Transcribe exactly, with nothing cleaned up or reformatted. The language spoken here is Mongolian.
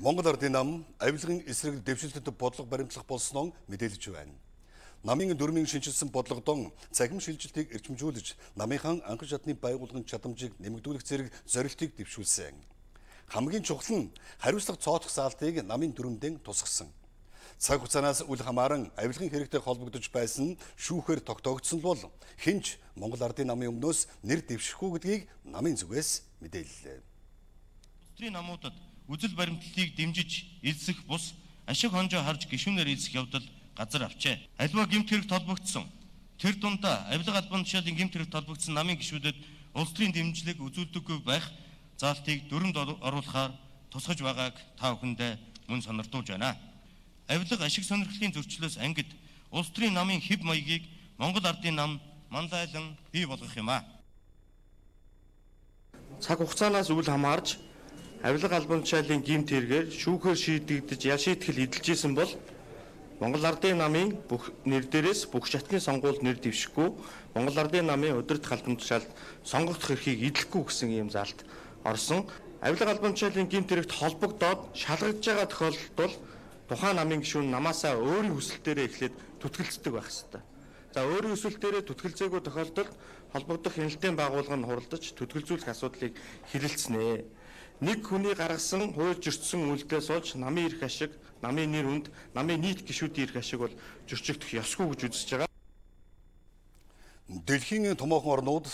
Монгол Ардын нам авилгын эсрэг дэвшилтэд бодлого баримтлах болсноо мэдээлж байна. Намын дөрмийн шинжилсэн бодлогодон цахим шилжилтийг эрчимжүүлж, намынхан анхан шатны байгууллагын чадамжийг нэмэгдүүлэх зэрэг зорилтыг дэвшүүлсэн. Хамгийн чухал нь хариуцлага цоотох заалтыг намын дүрмдэн тусгасан. Цаг хугацаанаас үл хамааран авилгын хэрэгтэй холбогдож байсан шүүхээр тогтоогдсон бол хинч Монгол Ардын намын өмнөөс нэр дэвшихгүй гэдгийг намын зүгээс мэдээллээ. Улсын намуудад үзэл баримтлалыг дэмжиж эзсэх бус ашиг хонжоо харж гишүүнээр эзсэх явдал газар авчээ. Аливаа гэмт хэрэгт холбогдсон тэр дундаа авилга албан тушаалын гэмт хэрэгт холбогдсон намын гишүүдэд улс төрийн дэмжлэг үзүүлдэггүй байх заалтыг дүрмд оруулахаар тусгаж байгааг та бүхэндээ мөн сонирдуулж байна. Авилга ашиг сонирхлын зөрчлөөс ангид улс төрийн намын хэв маягийг Монгол Ардын нам мандайлан бий болгох юм а. Цаг хугацаанаас үл хамаарч авилга албан тушаалын гэмт хэрэгээр шүүхээр шийдэгдэж ял шийтгэл эдэлжсэн бол Монгол Ардын намын бүх нэр дээрээс бүх шатны сонгуульд нэр дэвшихгүй Монгол Ардын намын удирдах албан тушаалд сонгогдох эрхийг эдлэхгүй гэсэн ийм заалт орсон. Авилга албан тушаалын гэмт хэрэгт холбогдоод шалгагдж байгаа тохиолдолд бол тухайн намын гишүүн намаасаа өөрийн хүсэлтээрээ эхлээд түтгэлцдэг байх ёстой. За өөрийн хүсэлтээрээ түтгэлзээгүй тохиолдолд холбогдох хяналтын байгууллага нь хуралдаж түтгэлзүүлэх асуудлыг хэлэлцэнэ. Нэг хүний гаргасан хууль зөрчсөн үйлдэлээ сууж намын эрх ашиг, намын нэр хүнд, намын нийт гишүүдийн эрх ашиг бол зөрчигдөх ёсгүй гэж үзэж байгаа. Дэлхийн томоохон орнууд